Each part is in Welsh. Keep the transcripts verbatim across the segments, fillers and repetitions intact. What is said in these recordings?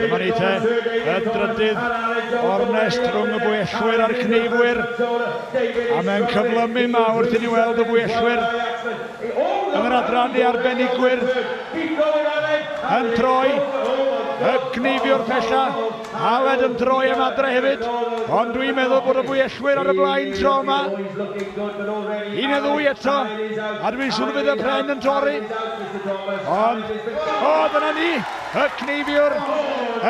Dyma ni te, y drydydd ornest rhwng y bwyellwyr a'r cneifwyr. A mae'n cyflymu mawr wrth i ni weld y bwyellwyr yn yr adran i arbenigwyr yn troi. Y cneifiwr pella, Aled yn troi am adre hefyd, ond dwi'n meddwl bod y bwyellwyr ar y blaen tro yma. Un neu ddwy eto, a dwi'n siŵr fydd y pren yn torri. Ond, o, dyna ni, y cneifiwr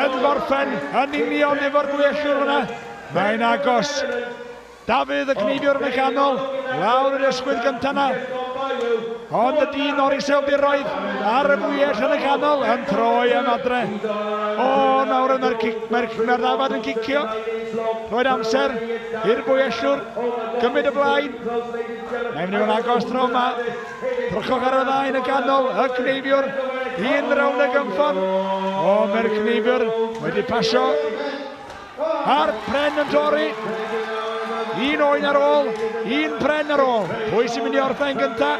yn gorffen yn union efo'r bwyellwr fyna. Mae'n agos. Dafydd y cneifiwr yn y canol, lawr yr ysgwydd gyntaf yna. Ond y dyn o'r iseldiroedd ar y fwyell yn y canol yn troi am adre. O, nawr mae'r mae'r mae'r ddafad yn cicio. Rhoi'r amser i'r bwyellwr gymryd y blaen. Mae'n mynd i fod yn agos tro yma. Drychwch ar y ddau yn y canol, y cneifiwr, un rownd y gynffon. O, mae'r cneifiwr wedi pasio. A'r pren yn torri. Un oen ar ôl, un pren ar ôl. Pwy sy'n mynd i orffen gynta?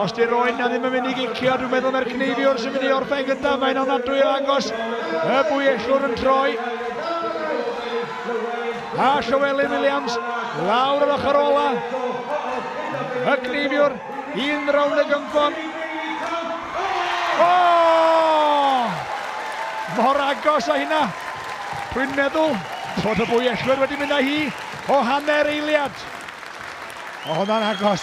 Os di'r oen na ddim yn mynd i gicio, dwi'n meddwl mae'r cneifiwr sy'n mynd i orffen gynta. Mae'n ofnadwy o agos. Y bwyellwr yn troi. A Llywelyn Williams lawr yr ochr ola. Y cneifiwr, un rownd y gynffon. O! Mor agos â hynna. Dwi'n meddwl bod y bwyellwyr wedi mynd â hi o hanner eiliad. O, hwnna'n agos.